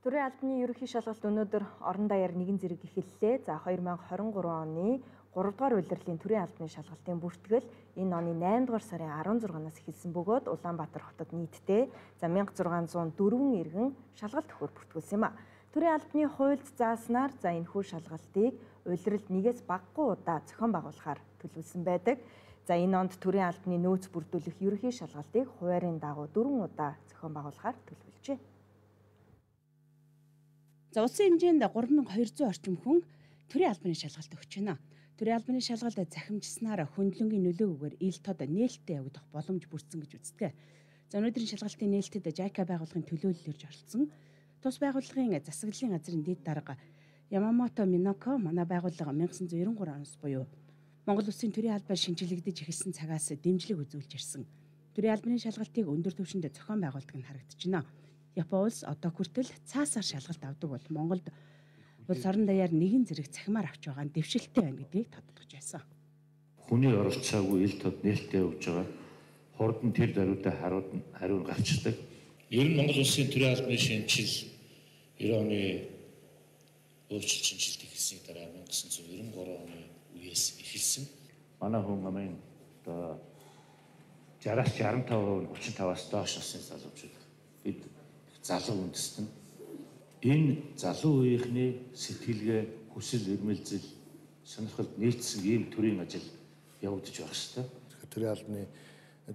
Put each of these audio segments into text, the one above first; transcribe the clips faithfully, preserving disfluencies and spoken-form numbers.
Төрийн албаны ерөнхий шалгалт өнөөдөр орон даяар нэгэн зэрэг эхэллээ. За хоёр мянга хорин гурван оны гурав дугаар улирлын төрийн албаны шалгалтын бүртгэл энэ оны найман дугаар сарын арван зургаанаас эхэлсэн бөгөөд Улаанбаатар хотод нийтдээ за мянга зургаан зуун дөрвөн иргэн шалгалт өгөхөөр бүртгүүлсэн юм а. Төрийн албаны хуульд зааснаар за энэхүү шалгалтыг улиралд нэгээс багагүй удаа зохион байгуулахаар төлөвлөсөн байдаг. За энэ онд төрийн албаны нөөц бүрдүүлэх ерөнхий шалгалтыг хуваарийн дагуу дөрвөн удаа зохион байгуулахаар төлөвлөжээ. За улсын хэмжээнд гурван мянга хоёр зуун орчим хүн төрийн албаны шалгалт өгч байна. Төрийн албаны шалгалт захимжснаар хөндлөнгийн нөлөөгөөр ил тод нээлттэй явагдах боломж бүрдсэн гэж үздэг. За өнөөдрийн шалгалтын нээлтэд Жайка байгууллагын төлөөлөлөөрж оролцсон. Тус байгууллагын засаглалын газрын дэд дарга Ямамото Миноко манай байгууллага мянга девятьсот девяносто три оноос буюу Монгол Улсын төрийн албаар шинжилэгдэж эхэлсэн цагаас дэмжлэг үзүүлж ирсэн. Төрийн албаны шалгалтыг өндөр түвшинд зохион байгуулдаг нь харагдчихна. Япон улс одоо хүртэл цаасаар шалгалт авдаг бол Монголд улс орон даяар нэгэн зэрэг цахимаар авч байгаа нь дэвшилттэй байна гэдгийг тодтогч байсан. Хүний оролцоогүй ил тод нээлттэй явж байгаа хурдан тэр даруйдаа хариуд хариу гарчдаг. Ер нь Монгол Улсын төрийн албаны шинжил девяносто оны өөрчлөлт шинжилт эхэлсний дараа мянга девятьсот девяносто три оны үеэс эхэлсэн. Манай хүн амын одоо шестьдесят шестьдесят пять хувь тридцать пять-аас доош насны залуучууд бид залуу үндэстэн энэ залуу үеийнхний сэтгэлгээ хүсэл эрмэлзэл сонирхолд нийцсэн ийм төрийн ажил явагдаж байх ёстой. Төрийн албаны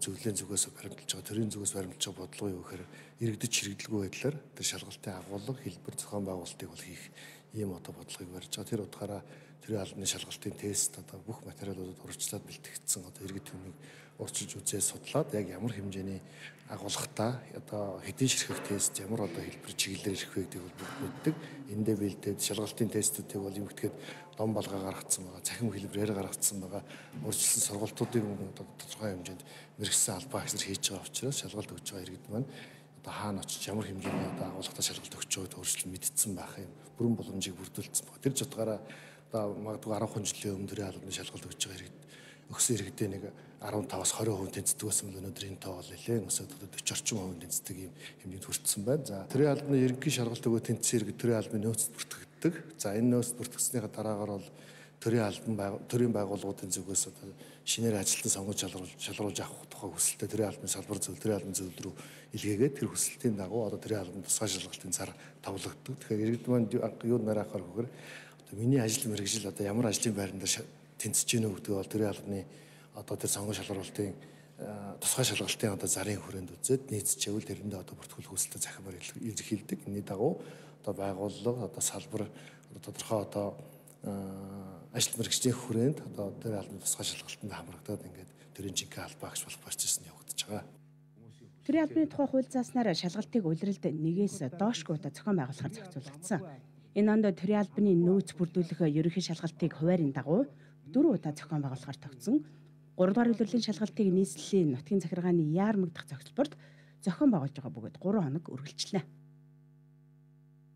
зөвлөлийн зүгээс баримталж байгаа төрийн зүгээс баримталж байгаа бодлого юу гэхээр иргэдэд чирэгдэлгүй байдлаар тэр шалгалтын агуулга хэлбэр зохион байгуулалтыг бол хийх ийм одоо бодлогыг барьж байгаа. Тэр утгаараа төрийн албаны шалгалтын тест одоо бүх материалуудад урьдчилаад бэлтгэгдсэн одоо иргэд хүнийг урьдчилж үзээ судлаад яг ямар хэмжээний агуулгатай одоо хэдийн ширхэг тест ямар одоо хэлбэр чиглэлээр ирэх вэ гэдгийг бол мэддэг. Эндээ бэлдээд шалгалтын тестүүдийг бол юм гэхэд дом балгаа гаргацсан байгаа, цахим хэлбэрээр гаргацсан байгаа, урьдчилсан сургалтуудыг одоо тодорхой хэмжээнд мэргэжсэн албаа агшнаар хийж байгаа учраас шалгалт өгж байгаа иргэд маань одоо хаана очиж ямар хэмжээний одоо агуулгатай шалгалт өгч байгааг өөрчлөлт мэдсэн байх юм. Бүрэн боломжийг бүрдүүлсэн байна. Тэр ч утгаараа одоо магадгүй арван жилийн өмнө төрийн албаны шалгалт өгч байгаа иргэд өгсөн иргэдээ нэг десять-аас тwenty хувь тэнцдэг байсан бол өнөөдөр энэ тоо бол нэлээд өсөд forty орчим хувь тэнцдэг юм хэмжээнд хүрсэн байна. За төрийн албаны ерөнхий шалгалт өгөө тэнцсэн иргэд төрийн албаны нөөцөд бүртгэгддэг. За энэ нөөцөд бүртгэснийхаа дараагаар бол төрийн албан төрийн байгууллагуудын зүгээс одоо шинээр ажилтан сонгож шалруулж шалруулж авах тухай хүсэлтэд төрийн албаны салбар зөв төрийн албаны зөвлөл рүү илгээгээд тэр хүсэлтийн дагуу одоо төрийн албаны тусгай шалгалтын цар тавлагддаг. Тэгэхээр иргэд маань юу нараа ахаар гэхээр одоо миний ажил мэргэжил одоо ямар ажлын байран дээр тэнцэж гэнэ гэдэг бол төрийн албаны одоо тэр сонгож шалгуулалтын тусгай шалгалтын одоо зарын хүрээнд үзээд нийцчихвэл тэрэндээ одоо бүртгүүлэх хүсэлтэд захимаар илэрхийлдэг. Энэний дагуу одоо байгууллага одоо салбар одоо тодорхой одоо ажил мэргэжлийн хүрээнд одоо төрийн албаны тусгай шалгалтанд хамрагдаад ингээд төрийн жинхэнэ албаа агш болох процесс нь явагдаж байгаа. Төрийн албаны тухай хууль зааснаар шалгалтыг улиралд нэгээс доошгүй удаа зохион байгуулахаар зохицуулагдсан. Энэ онд төрийн албаны нөөц бүрдүүлэх ерөнхий шалгалтыг хуваарийн дагуу дөрвөн удаа зохион байгуулахаар тогтсон. гурав дугаар улирлын шалгалтыг нийслэлийн нутгийн захиргааны яармаг дахь зохицолборд зохион байгуулж байгаа бөгөөд гурван хоног үргэлжлэнэ.